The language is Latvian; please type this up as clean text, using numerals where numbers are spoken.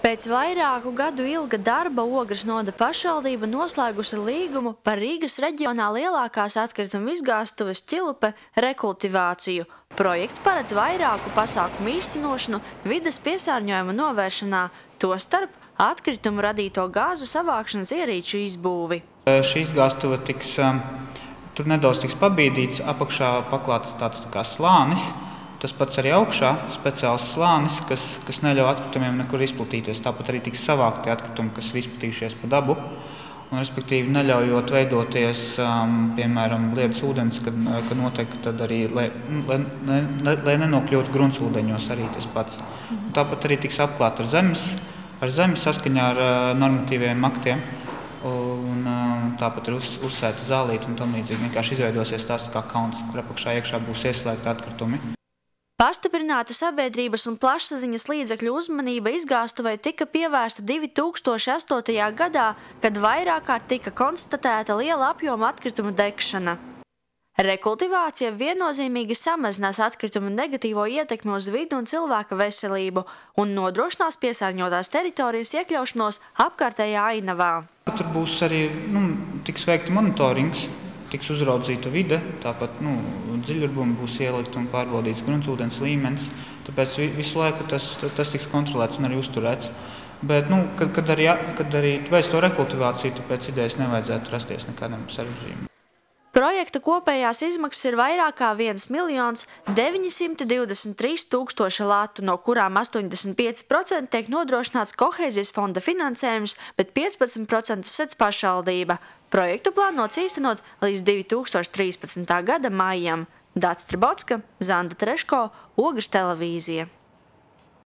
Pēc vairāku gadu ilga darba Ogres novada pašvaldība noslēgusi līgumu par Rīgas reģionā lielākās atkrituma izgāstuves Ķilupe rekultivāciju. Projekts paredz vairāku pasākumu īstenošanu vides piesārņojuma novēršanā, tostarp atkritumu radīto gāzu savākšanas ierīču izbūvi. Šī izgāstuve tur nedaudz tiks pabīdīts, apakšā paklāts tāds kā slānis. Tas pats arī augšā speciāls slānis, kas neļauj atkritumiem nekur izplatīties. Tāpat arī tiks savākti atkritumi, kas ir izplatījušies pa dabu. Un, respektīvi, neļaujot veidoties, piemēram, lietus ūdens, kad notiek, tad arī, lai nenokļūtu gruntsūdeņos arī tas pats. Un tāpat arī tiks apklāt ar zemi saskaņā ar normatīviem aktiem. Un tāpat ir uzsēta zālīte un tam līdzīgi. Vienkārši izveidosies tās kā kauns, kur apakšā iekšā būs ieslēgti atkritumi. Pastiprināta sabiedrības un plašsaziņas līdzekļu uzmanība izgāstuvei tika pievērsta 2008. gadā, kad vairāk kārt tika konstatēta liela apjoma atkritumu degšana. Rekultivācija viennozīmīgi samazinās atkritumu negatīvo ietekmi uz vidu un cilvēka veselību un nodrošinās piesārņotās teritorijas iekļaušanos apkārtējā ainavā. Tur būs arī tiks veikta monitorings. Tiks uzraudzīta vide, tāpat dziļurbumi būs ielikt un pārbaudīts gruntsūdens līmenis, tāpēc visu laiku tas tiks kontrolēts un arī uzturēts. Bet, kad arī veic to rekultivāciju, tāpēc idejas nevajadzētu rasties nekādam sarežģījumam. Projekta kopējās izmaksas ir vairāk kā 1 923 000 latu, no kurām 85% tiek nodrošināts Kohēzijas fonda finansējums, bet 15% sedz pašvaldība. Projektu plānots īstenot līdz 2013. gada maijam. Dācis Tribotska, Zanda Treško, Ogres televīzija.